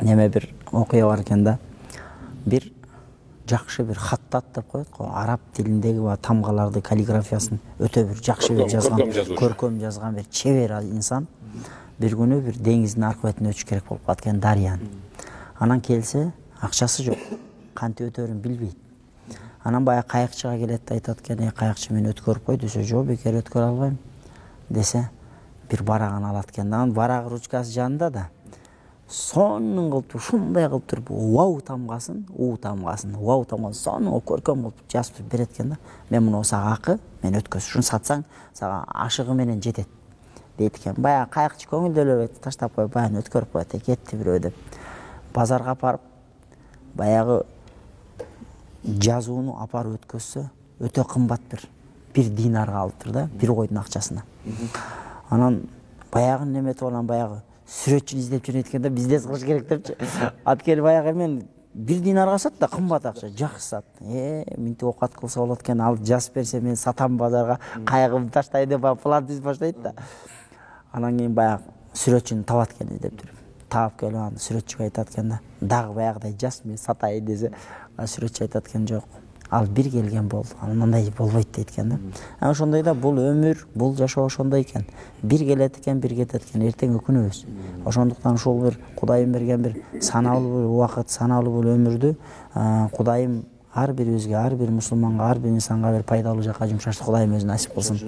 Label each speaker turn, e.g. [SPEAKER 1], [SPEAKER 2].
[SPEAKER 1] неме бир окуя бар экен да. Бир жакшы бир хаттат деп коет го. Араб тилиндеги тамгаларды, каллиграфиясын өтө бир жакшы бир жазган, көркөм жазган бир чебер инсан бир күнү бир деңиздин аркы бетине өтүш керек болуп калат экен, дарыянын. Анан келсе, акчасы жок. Кантип өтөрүн билбейт. Анан баягы кайыкчыга келет да айтат экен, кайыкчы мени өткөрүп кой десе, жок, бекер өткөрө албайм десе, бир барагын алат экен. Анан барак ручкасы жанында да сонун кылып, ушундай кылып туруп вау тамгасын сонун көркөм кылып жазып берет экен да. Мен муну сага акы, мен өткөз, ушуну сатсаң, сага ашыгы менен жетет дейт экен. Баягы кайыкчы көңүлдөлөбөйт, таштап коюп, баягы өткөрүп коет, кетти бирөө деп. Базарга апарып, баягы жазууну апарып өткөзсө, өтө кымбат бир динарга алыптыр да, бир койдун акчасына. Анан баягы неметип алган, баягы сүрөтчүнү издеп жүрөт экен да, бизнес кылыш керек депчи. Ат келип баягы мен бир динарга сат да, кымбат акча, жакшы сат. Минтип окат кылса болот экен, ал жазып берсе мен сатам базарга, кайыгымды таштайын деп план түзүп баштайт да. Анан кийин баягы сүрөтчүнү табат экен издеп жүрүп. Таап келип анан сүрөтчүгө айтат экен да, дагы баягыдай жаз, мен сатайын десе, сүрөтчү айтат экен, жок, ал бир келген болду, анан андай болбойт дейт экен да. Ошондой да бул өмүр, бул жашоо ошондой экен. Бир келет экен, бир кетет экен, эртең өкүнөбүз. Ошондуктан ушул бир Кудайым берген бир саналуу бир убакыт, саналуу бир өмүрдү Кудайым ар бирибизге, ар бир мусулманга, ар бир инсанга бир пайдалуу жакка жумшашты Кудайым өзү насип кылсын.